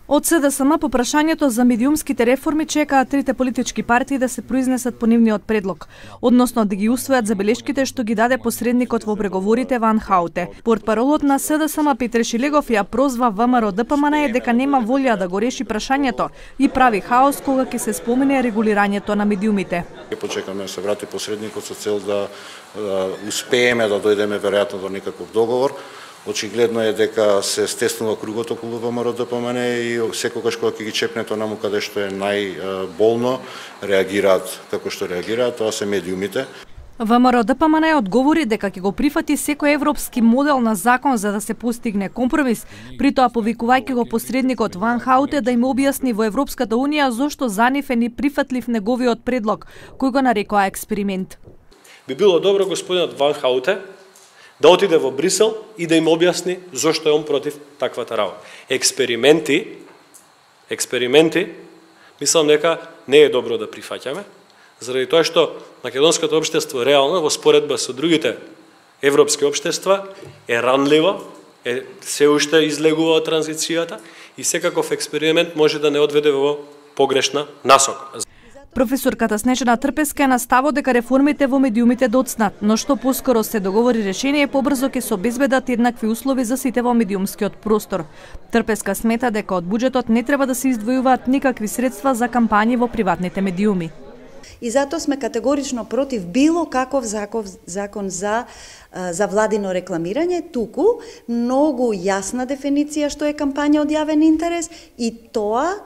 Од СДСМ по прашањето за медиумските реформи чекаат трите политички партии да се произнесат по нивниот предлог, односно да ги усвојат забелешките што ги даде посредникот во преговорите Ван Хауте. Портпаролот на СДСМ Петре Шилегов ја прозва ВМРО-ДПМН дека нема волја да го реши прашањето и прави хаос кога ќе се спомене регулирањето на медиумите. Почекаме да се врати посредникот со цел да успееме да дојдеме веројатно до некаков договор. Очигледно е дека се стеснува кругот околу ВМРО-ДПМН и секогаш кога ќе ги чепне тоа наму каде што е најболно, реагираат како што реагираат, тоа се медиумите. ВМРО-ДПМН одговори дека ќе го прифати секој европски модел на закон за да се постигне компромис, при тоа повикувајќи го посредникот Ван Хауте да им објасни во Европската Унија зошто за нив е неприфатлив неговиот предлог, кој го нарекоа експеримент. Би било добро господинот Ван Хауте да отиде во Брисел и да им објасни зошто е он против таквата работа. Експерименти, мислам дека не е добро да прифаќаме, заради тоа што македонското општество реално во споредба со другите европски општества е ранливо, се уште излегува од транзицијата и секаков експеримент може да не одведе во погрешна насока. Професорката Снежана Трпеска е на ставот дека реформите во медиумите доцнат, но што поскоро се договори решение, побрзо ќе се обезбедат еднакви услови за сите во медиумскиот простор. Трпеска смета дека од буџетот не треба да се издвојуваат никакви средства за кампањи во приватните медиуми. И затоа сме категорично против било каков закон за владино рекламирање, туку многу јасна дефиниција што е кампања од јавен интерес и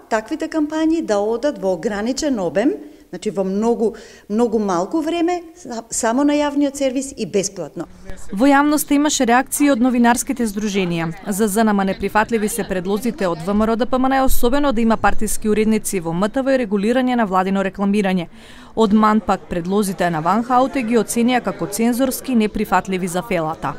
таквите кампањи да одат во ограничен обем, значи во многу малку време, само на јавниот сервис и бесплатно. Во јавноста имаше реакции од новинарските здруженија. За ЗНМ неприфатливи се предлозите од ВМРО-ДПМН, особено да има партиски уредници во МТВ и регулирање на владино рекламирање. Од МАН пак предлозите на Ван Хауте ги оценија како цензорски неприфатливи за фелата.